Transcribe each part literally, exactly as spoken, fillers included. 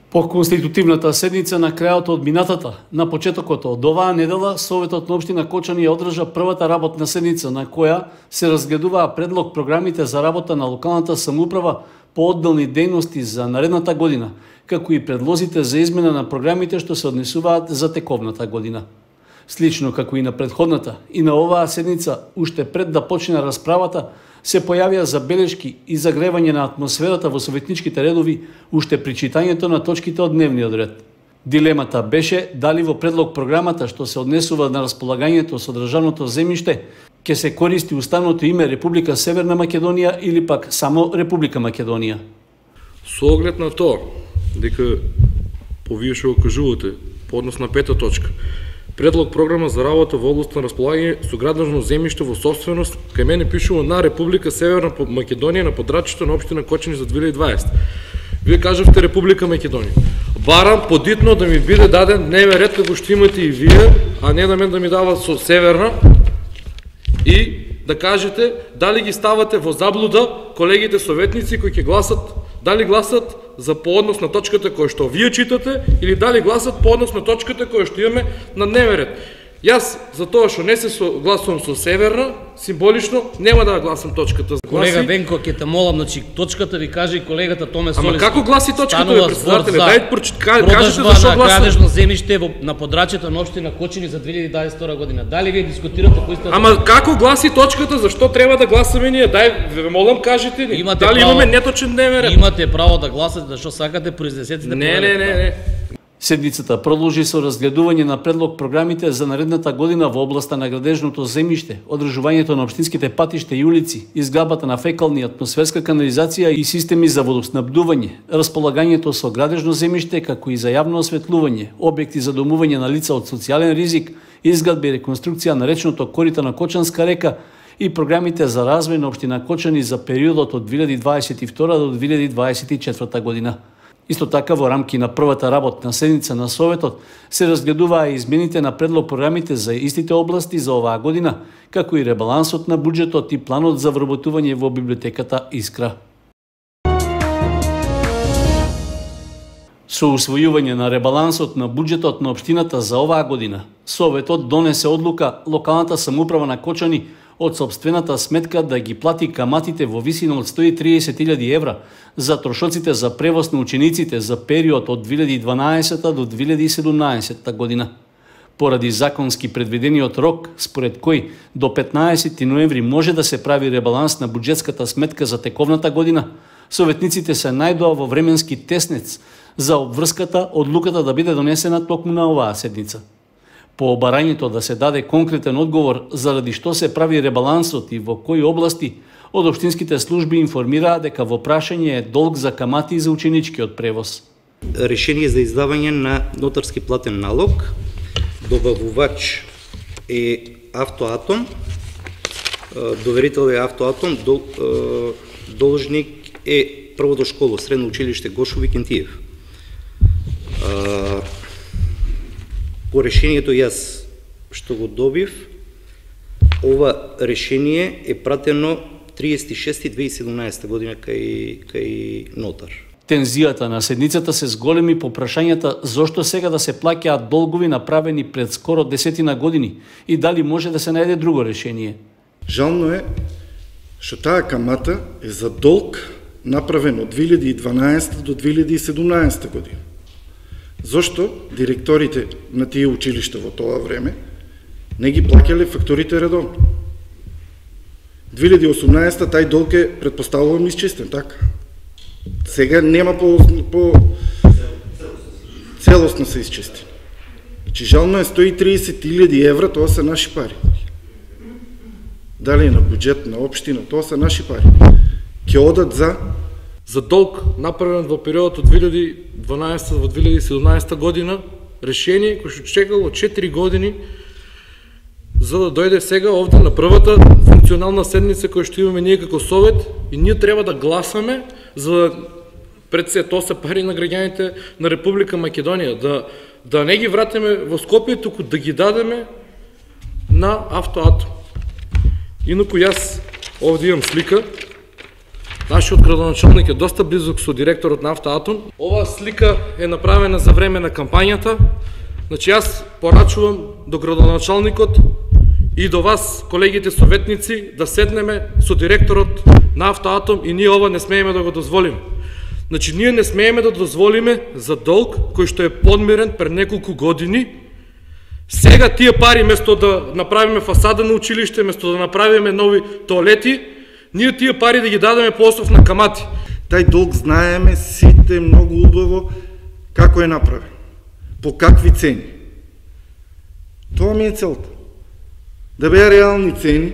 По конститутивната седница на крајот од минатата, на почетокот од оваа недела, Советот на општина Кочани ја одржа првата работна седница на која се разгледуваа предлог програмите за работа на локалната самоуправа по одделни дејности за наредната година, како и предлозите за измена на програмите што се однесуваат за тековната година. Слично како и на претходната, и на оваа седница, уште пред да почне расправата, се појавија забелешки и загревање на атмосферата во советничките редови уште при читањето на точките од дневниот ред. Дилемата беше дали во предлог програмата што се однесува на располагањето со државното земјиште ќе се користи уставното име Република Северна Македонија или пак само Република Македонија. Со оглед на тоа, дека повие што го кажувате, по однос на пета точка, предлог програма за работа во област на располагање со градежно земјиште во собственост, кај мене пишува на Република Северна Македонија на подрачјето на општина Кочани за две илјади и дваесета. Вие кажавте Република Македонија. Барам подитно да ми биде даден дневен ред како што имате и вие, а не да мен да ми дава со Северна и да кажете дали ги ставате во заблуда колегите советници кои ќе гласат, дали гласат за пооднос на точката која што вие читате или дали гласат пооднос на точката која што имаме на дневен ред. Јас за тоа што не се согласувам со Северна, символично нема да гласам точката. Колега Венко, ќе те молам, значи точката ви каже и колегата Томе Солис. Ама како гласи точката, бе, председателе? Дај кажете за што гласам. Продажба на градежно земјиште на подрачјето на општина Кочани за две илјади и дваесет и втора година. Дали вие дискутирате кои сте? Ама како гласи точката, зашто треба да гласаме ние? Дај, ве молам, кажете ни. Дали имаме неточен дневен ред? Имате право да гласате, зашто сакате, произнесете. Не, не, не, не. Седницата продолжи со разгледување на предлог програмите за наредната година во областа на градежното земјиште, одржувањето на општинските патишта и улици, изградбата на фекални, атмосферска канализација и системи за водоснабдување, располагањето со градежно земјиште како и за јавно осветлување, објекти за домување на лица од социјален ризик, изградба и реконструкција на речното корита на Кочанска река и програмите за развој на општина Кочани за периодот од две илјади дваесет и втора до две илјади дваесет и четврта година. Исто така, во рамки на првата работна седница на Советот се разгледуваа измените на предлог програмите за истите области за оваа година, како и ребалансот на буџетот и планот за вработување во библиотеката Искра. Со усвојување на ребалансот на буџетот на општината за оваа година, Советот донесе одлука локалната самоуправа на Кочани од сопствената сметка да ги плати каматите во висина од сто и триесет илјади евра за трошоците за превоз на учениците за период од две илјади и дванаесета до две илјади и седумнаесета година. Поради законски предвидениот рок, според кој до петнаесети ноември може да се прави ребаланс на буџетската сметка за тековната година, советниците се најдоа во временски теснец за обврската одлуката да биде донесена токму на оваа седница. По обарањето да се даде конкретен одговор заради што се прави ребалансот и во кои области, од општинските служби информираа дека во прашање е долг за камати за ученичкиот превоз. Решение за издавање на нотарски платен налог, добавувач е Автоатом, доверител е Автоатом, должник е првото школо, средно училиште Гошови Кентиев. По решението јас што го добив, ова решение е пратено триесет и шести две илјади и седумнаесета година кај, кај нотар. Тензијата на седницата се зголеми по прашањата зошто сега да се плаќаат долгови направени пред скоро десетина години и дали може да се најде друго решение. Жално е што таа камата е за долг направен од две илјади и дванаесета до две илјади и седумнаесета година. Зошто директорите на тие училишта во тоа време не ги плаќале фактурите редовно? две илјади и осумнаесета тај долг е претпоставувам исчистен, така? Сега нема по, по целосно се исчисти. Значи жално е сто и триесет илјади евра, тоа се наши пари. Дали на буџет на општина, тоа се наши пари. Ќе одат за за долг направен во периодот од две илјади и дванаесета во две илјади и седумнаесета година, решение кој што чекало четири години за да дојде сега овде на првата функционална седница која што имаме ние како Совет и ние треба да гласаме за да пред се тоа се пари на граѓаните на Република Македонија, да, да не ги вратиме во Скопје, туку да ги дадеме на Автоатом. Инаку јас овде имам слика Нашиот градоначалник е доста близок со директорот на Автоатом. Оваа слика е направена за време на кампањата. Значи јас порачувам до градоначалникот и до вас, колегите советници, да седнеме со директорот на Автоатом и ние ова не смееме да го дозволиме. Значи ние не смееме да дозволиме за долг кој што е подмирен пред неколку години. Сега тие пари, место да направиме фасада на училиште, место да направиме нови тоалети, ние тие пари да ги дадеме по основ на камати. Тај долг знаеме сите многу убаво како е направен, по какви цени. Тоа ми е целта. Да беа реални цени,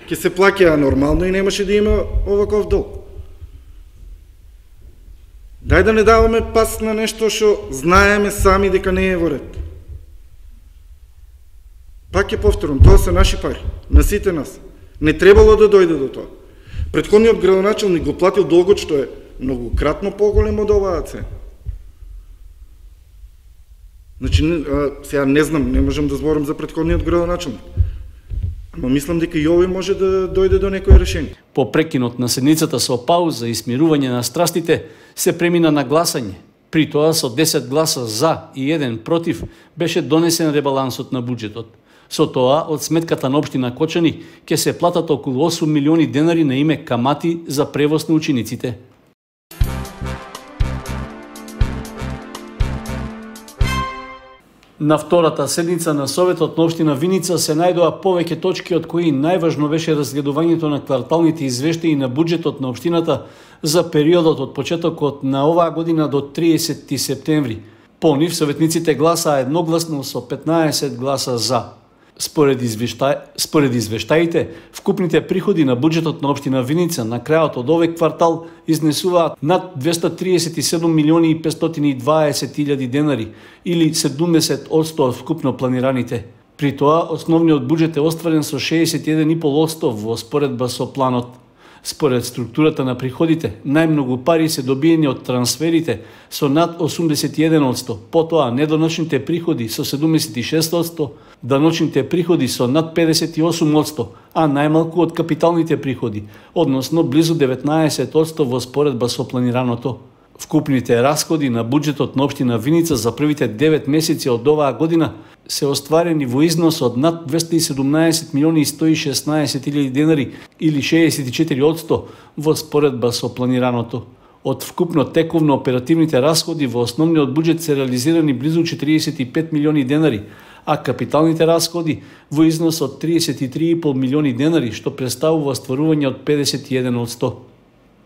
ќе се плаќаа нормално и немаше да има оваков долг. Дај да не даваме пас на нешто што знаеме сами дека не е во ред. Пак ќе повторам, тоа се наши пари, на сите нас. Не требало да дојде до тоа. Претходниот градоначалник го платил долгот што е многократно поголем од оваа цена. Значи, сега не знам, не можам да зборам за претходниот градоначалник. Ама мислам дека и овој може да дојде до некое решение. По прекинот на седницата со пауза и смирување на страстите, се премина на гласање. При тоа со десет гласа за и еден против беше донесен ребалансот на буџетот. Со тоа, од сметката на општина Кочани ќе се платат околу осум милиони денари на име камати за превоз на учениците. На втората седница на Советот на општина Виница се најдоа повеќе точки, од кои најважно беше разгледувањето на кварталните извештаи на буџетот на општината за периодот од почетокот на оваа година до триесети септември. По нив советниците гласаа едногласно со петнаесет гласа за. Според, извешта... Според извештаите, вкупните приходи на буџетот на општина Виница на крајот од овој квартал изнесуваат над двесте триесет и седум милиони и петстотини и дваесет илјади денари, или седумдесет одсто од вкупно планираните. При тоа, основниот буџет е остварен со шеесет и еден и пол одсто во споредба со планот. Според структурата на приходите, најмногу пари се добиени од трансферите со над осумдесет и еден одсто, потоа недоночните приходи со седумдесет и шест одсто, даночните приходи со над педесет и осум одсто, а најмалку од капиталните приходи, односно близу деветнаесет одсто во споредба со планираното. Вкупните расходи на буџетот на општина Виница за првите девет месеци од оваа година се остварени во износ од над двесте и седумнаесет милиони и сто и шеснаесет илјади денари, или шеесет и четири одсто во споредба со планираното. Од вкупно тековно оперативните расходи во основниот буџет се реализирани близу четириесет и пет милиони денари, а капиталните расходи во износ од триесет и три и пол милиони денари, што представува остварување од педесет и еден одсто.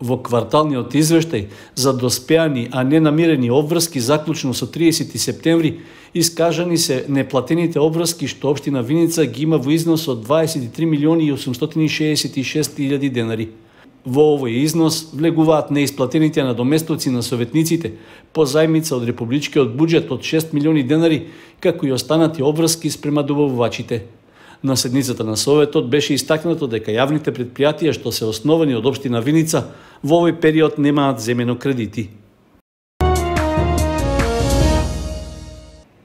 Во кварталниот извештај за доспеани, а не намирени обврски заклучно со триесети септември, искажани се неплатените обврски што општина Виница ги има во износ од дваесет и три милиони и осумстотини шеесет и шест илјади денари. Во овој износ влегуваат неисплатените надоместоци на советниците по зајмица од републичкиот буџет од шест милиони денари, како и останати обврски спрема добавувачите. На седницата на Советот беше истакнато дека јавните предпријатија што се основани од општина Виница во овој период немаат земено кредити.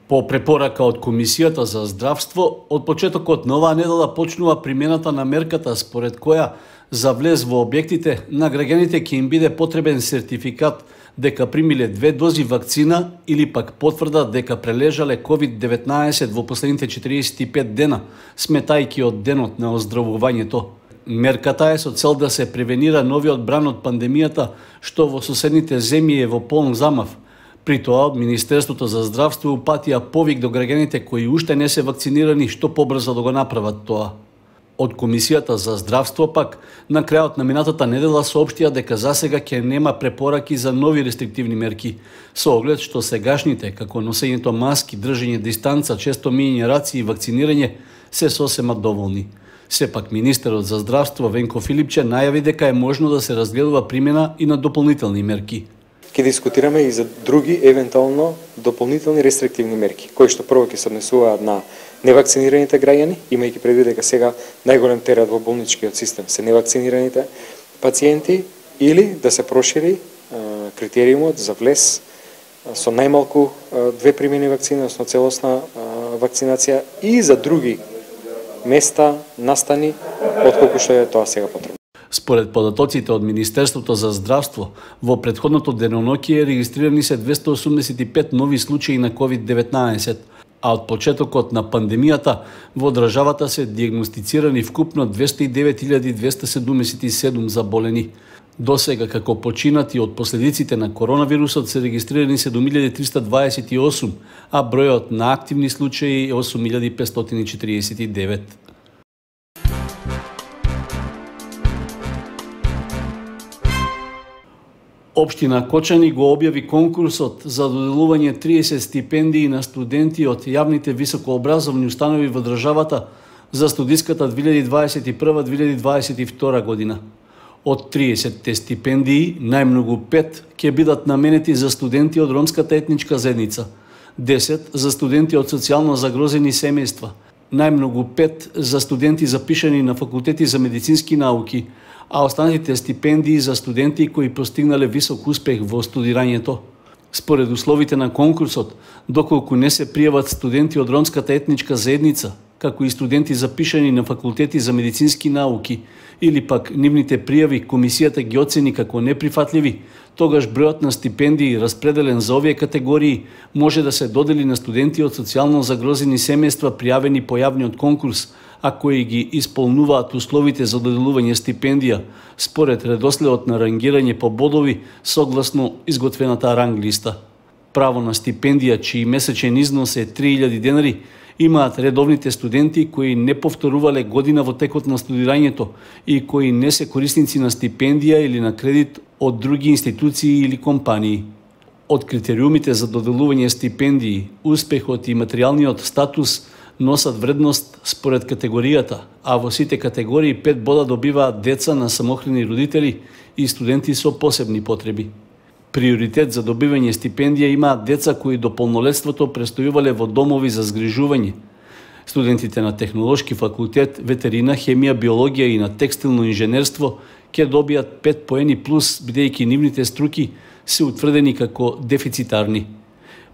По препорака од Комисијата за здравство, од почетокот на оваа недела почнува примената на мерката според која за влез во објектите на граѓаните ќе им биде потребен сертификат дека примиле две дози вакцина или пак потврда дека прележале ковид деветнаесет во последните четириесет и пет дена, сметајќи од денот на оздравувањето. Мерката е со цел да се превенира новиот бран од пандемијата, што во соседните земји е во полн замав. При тоа, Министерството за здравство упатија повик до граѓаните кои уште не се вакцинирани што побрзо да го направат тоа. Од Комисијата за здравство пак, на крајот на минатата недела соопштија дека засега ќе нема препораки за нови рестриктивни мерки, со оглед што сегашните, како носењето маски, држење дистанца, често миење раци и вакцинирање, се сосема доволни. Сепак, министерот за здравство Венко Филипче најави дека е можно да се разгледува примена и на дополнителни мерки. Ќе дискутираме и за други, евентуално, дополнителни рестриктивни мерки, кои што прво ќе се однесуваат на невакцинираните граѓани, имајќи предвид дека сега најголем терет во болничкиот систем се невакцинираните пациенти, или да се прошири а, критериумот за влез а, со најмалку а, две примени вакцини, односно целосна а, вакцинација и за други места, настани, отколку што е тоа сега потребно. Според податоците од Министерството за здравство, во претходното деноноќие регистрирани се двесте осумдесет и пет нови случаи на ковид деветнаесет, а од почетокот на пандемијата во државата се диагностицирани вкупно двесте и девет илјади двесте седумдесет и седум заболени. Досега, како починати од последиците на коронавирусот, се регистрирани седум илјади триста дваесет и осум, а бројот на активни случаи е осум илјади петстотини четиридесет и девет. Општина Кочани го објави конкурсот за доделување триесет стипендии на студенти од јавните високообразовни установи во државата за студиската две илјади дваесет и прва - две илјади дваесет и втора година. Од триесетте стипендии, најмногу пет ќе бидат наменети за студенти од ромската етничка заедница, десет за студенти од социјално загрозени семејства, најмногу пет за студенти запишани на факултети за медицински науки, а останатите стипендии за студенти кои постигнале висок успех во студирањето. Според условите на конкурсот, доколку не се пријават студенти од ромската етничка заедница, како и студенти запишани на факултети за медицински науки, или пак нивните пријави комисијата ги оцени како неприфатливи, тогаш бројот на стипендии распределен за овие категории може да се додели на студенти од социјално загрозени семејства пријавени по јавниот конкурс, а кои ги исполнуваат условите за доделување стипендија според редоследот на рангирање по бодови согласно изготвената ранг листа. Право на стипендија чиј месечен износ е три илјади денари имаат редовните студенти кои не повторувале година во текот на студирањето и кои не се корисници на стипендија или на кредит од други институции или компании. Од критериумите за доделување стипендии, успехот и материјалниот статус носат вредност според категоријата, а во сите категории пет бода добиваат деца на самохрани родители и студенти со посебни потреби. Приоритет за добивање стипендија имаат деца кои до полнолетството престојувале во домови за згрижување. Студентите на Технолошки факултет, ветерина, хемија, биологија и на текстилно инженерство ќе добијат пет поени плюс, бидејќи нивните струки се утврдени како дефицитарни.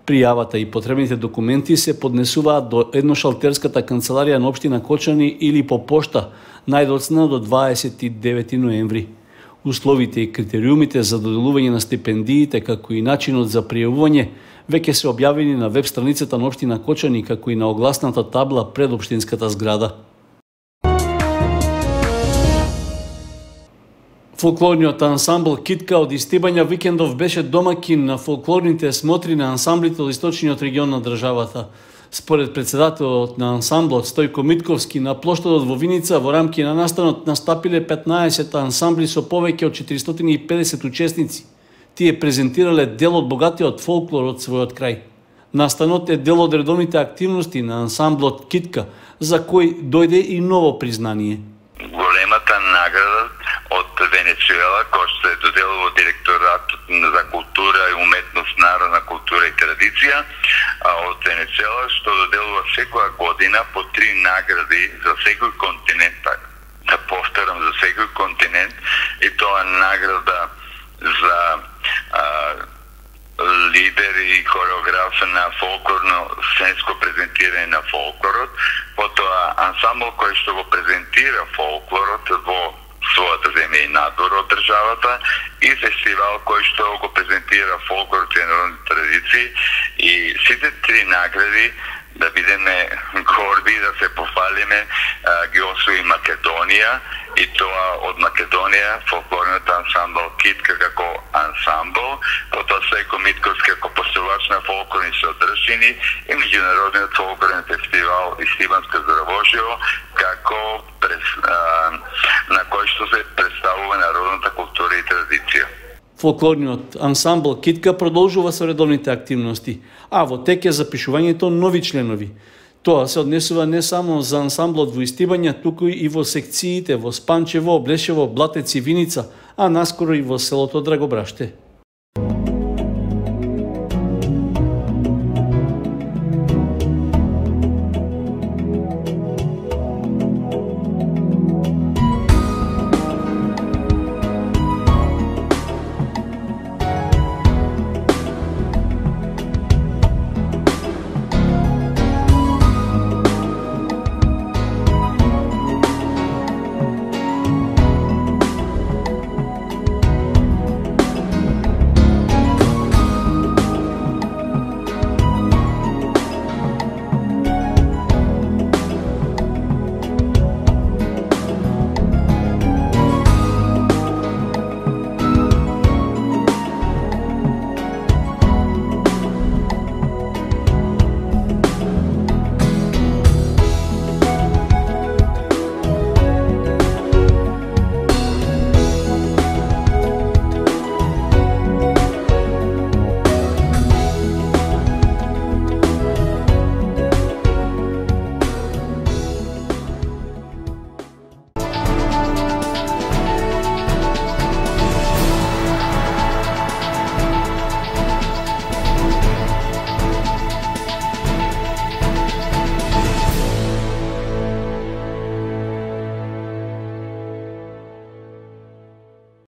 Пријавата и потребните документи се поднесуваат до едношалтерската канцеларија на општина Кочани или по пошта најдоцна до дваесет и девети ноември. Условите и критериумите за доделување на стипендиите, како и начинот за пријавување, веќе се објавени на веб страницата на општина Кочани, како и на огласната табла пред општинската зграда. Фолклорниот ансамбл Китка од Истибања викендов беше домакин на фолклорните смотри на ансамблите од источниот регион на државата. Според председателот на ансамблот Стојко Митковски, на плоштадот во Виница во рамки на настанот настапиле петнаесет ансамбли со повеќе од четиристотини и педесет учесници. Тие презентирале дел од богатиот фолклор од својот крај. Настанот е дел од редовните активности на ансамблот Китка, за кој дојде и ново признание. Големата награда од Венецуела, кој се доделува директоратот за култура и уметност, народна култура и традиција од Венецуела, што доделува секоја година по три награди за секој континент, да повторам, за секој континент, и тоа награда за а, лидер и хореограф на фолклорно сценско презентирање на фолклорот, потоа ансамбл кој што го презентира фолклорот во својата земја и надвор од државата, и фестивал кој што го презентира фолклорот и народни традиции, и сите три награди, да бидеме горди, да се пофалиме, ги освои Македонија, и тоа од Македонија фолклорниот ансамбл Китка како ансамбл, потоа Стојко Митковски како поставач на фолклорни содржини и меѓународниот фолклорен фестивал Истибанско Здравоживо како през, а, на кој што се представува народната култура и традиција. Фолклорниот ансамбл Китка продолжува со редовните активности, а во тек е запишувањето нови членови. Тоа се однесува не само за ансамблот во Истибања, туку и во секциите во Спанчево, Блешево, Блатец и Виница, а наскоро и во селото Драгобраште.